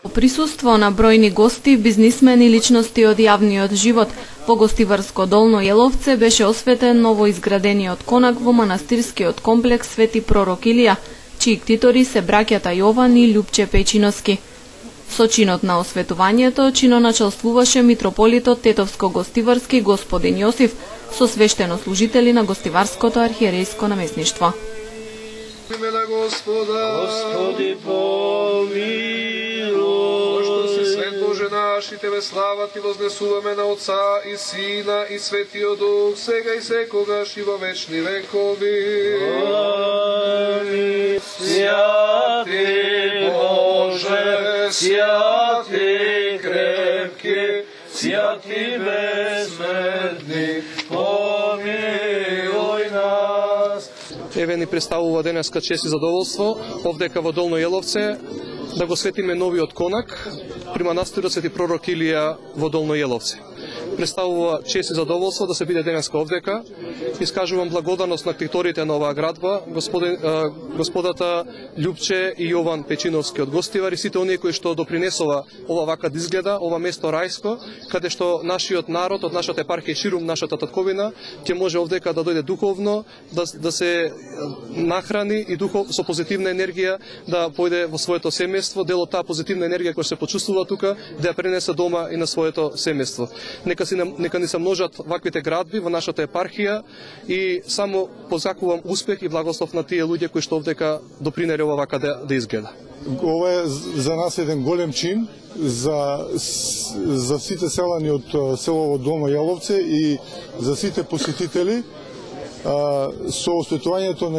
По присуство на бројни гости, бизнисмени и личности од јавниот живот, во гостиварско Долно Јеловце беше осветен новоизградениот конак во манастирскиот комплекс Свети Пророк Илија, чии ктитори се браќата Јован и Љупче Пејчиновски. Со чинот на осветувањето чиноначалствуваше митрополитот Тетовско-гостиварски господин Јосиф со свештенослужители на гостиварското архиерејско наместништво. Господи помилуј. Пошто си свет Боже наш и Тебе слава Ти вознесуваме на Отца и Сина и Светиот Дух, сега и секогаш и во вечни векови. Амин. Святи Боже, святи крепки, святи безсмртни, помилуј нас. Еве ни представува денеска чест и задоволство овдека во Долно Јеловце да го светиме новиот конак при манастирот Свети Пророк Илија во Долно Јеловце. Представува чест и задоволство да се биде денеска овдека. Искажувам благодарност на ктиторите на оваа градба, господата Љупче и Јован Пејчиновски од Гостивар и сите оние кои што допринесува ова вака да изгледа, ова место рајско, каде што нашиот народ од нашата епархија ширум нашата татковина ќе може овдека да дојде духовно, да се нахрани и со позитивна енергија да појде во своето семејство, дел од таа позитивна енергија која се почувствува тука, да ја пренесе дома и на своето семејство. Нека ни се множат ваквите градби во нашата епархија и само позакувам успех и благослов на тие луѓе кои што овдека допринере ова вака да изгледа. Ова е за нас еден голем чин за сите селани од село Долно Јеловце и за сите посетители. Со осветувањето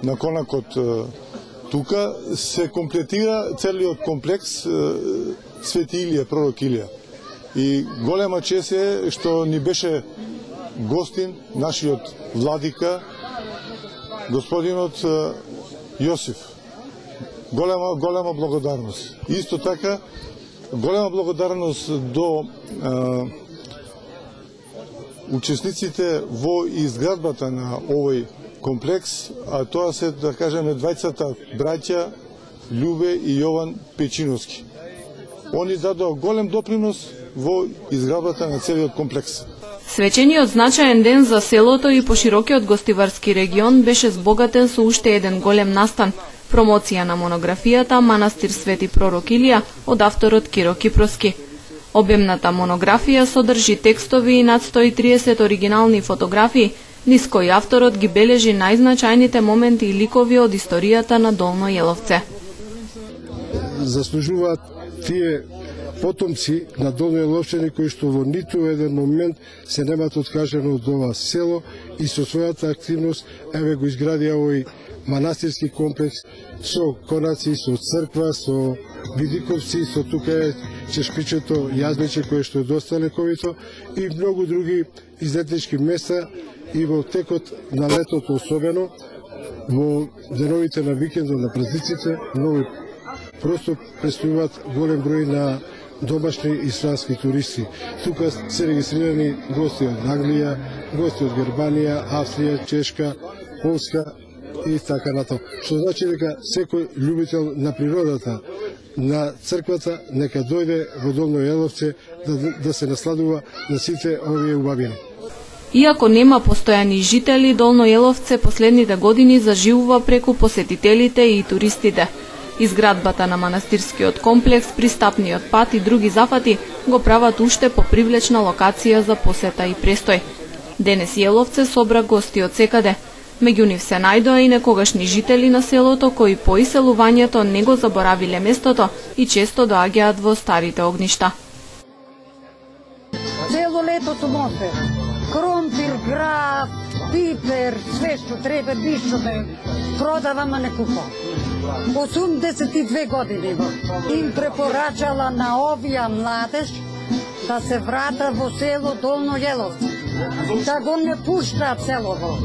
на конакот тука се комплетира целиот комплекс Свети Илија, Пророк Илија. И голема чест е што ни беше гостин нашиот владика, господинот Јосиф. Голема благодарност. Исто така, голема благодарност до учесниците во изградбата на овој комплекс, а тоа се, да кажеме, двајцата браќа Љубе и Јован Пејчиновски. Они дадоа голем допринос во изградбата на целиот комплекс. Свечениот значаен ден за селото и поширокиот гостиварски регион беше збогатен со уште еден голем настан – промоција на монографијата Манастир Свети Пророк Илија од авторот Киро Кипроски. Обемната монографија содржи текстови и над 130 оригинални фотографии, низ кои авторот ги бележи најзначајните моменти и ликови од историјата на Долно Јеловце. Заслужуваат тие потомци на Долно Јеловчани кои што во ниту еден момент се немаат откажано од ова село и со својата активност еве го изградија овој манастирски комплекс со конаци, со црква, со видиковци, со тука е чешпичето јазниче кое што е доста лековито и многу други излетнички места и во текот на летото особено, во деновите на викендот, на празниците, многу просто престојуваат голем број на домашни и странски туристи. Тука се регистрирани гости од Англија, гости од Германија, Австрија, Чешка, Полска и така натаму. Што значи дека секој љубител на природата, на црквата, нека дојде во Долно Јеловце да се насладува на сите овие убавини. Иако нема постојани жители, Долно Јеловце последните години заживува преку посетителите и туристите. Изградбата на манастирскиот комплекс, пристапниот пат и други зафати го прават уште попривлечна локација за посета и престој. Денес Јеловце собра гости од секаде. Меѓу нив се најдоа и некогашни жители на селото кои по иселувањето не го заборавиле местото и често доаѓаат во старите огништа. Цело лето сум овде. Кромпир, граб, пипер, све што треба, ништо да продавам, а не купам. 82 години им препорачала на овија младеж да се врата во село Долно Јеловце, да го не пуштаат селово.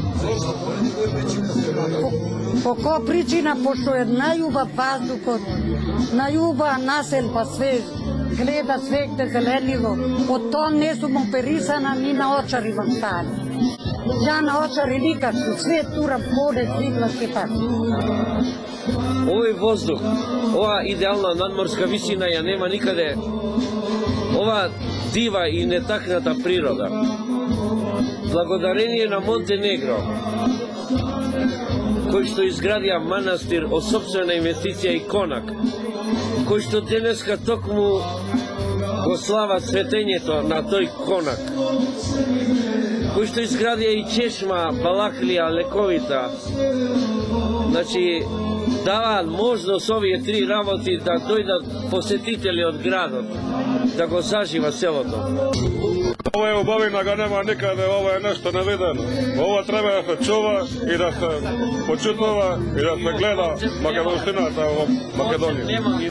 По која причина, пошто е најубав ваздухот, најубава населба, све гледа свегде зеленило, од тоа не сум оперисана ни на очари во стани. Јана Очари Ликачу, све тура поде Цвитлашки парк. Овој воздух, ова идеална надморска висина ја нема никаде. Ова дива и нетакната природа. Благодарение на Монтенегро, кој што изградија манастир од сопствена инвестиција и конак, кој што денеска токму го слава светењето на тој конак, кој што изградија и чешма, Балахлија, лековита. Значи, даваат можност овие три работи да дојдат посетители од градот, да го зажива селото. Ова е убавина, го нема никаде, ова е нешто невидено. Ова треба да се чува и да се почитува и да се гледа македонщината во Македонија.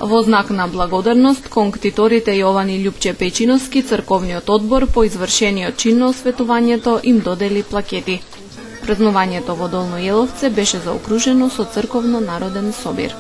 Во знак на благодарност, кон ктиторите Јован и Љупче Печиновски, црковниот одбор по извршениот чин на осветувањето им додели плакети. Празнувањето во Долно Јеловце беше заокружено со црковно народен собир.